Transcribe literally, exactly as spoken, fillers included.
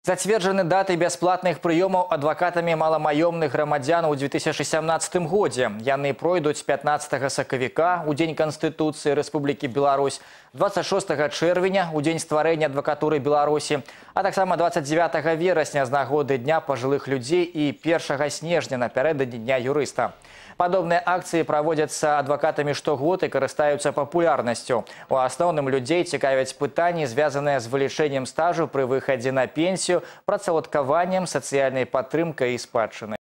Зацверджаны даты бясплатных прыёмаў адвакатамі маламаёмных грамадзян у две тысячи семнадцатым годзе. Яны пройдуць пятнадцатага сакавіка у Дзень Канстытуцыі Рэспублікі Беларусь, двадцать шостага чэрвеня у Дзень стварэння адвакатуры Беларусі, а таксама двадцать девятага верасня з нагоды Дня пажылых людзей і першага снежня напярэдадні Дня юрыста. Падобныя акцыі праводзяцца адвакатамі штогод і карыстаюцца папулярнасцю. У асноўным людзей цікавяць пытанні, звязаныя з вылічэннем стажу пры выхадзе на пенсію, працаўладкаваннем, сацыяльнай падтрымкай і спадчынай.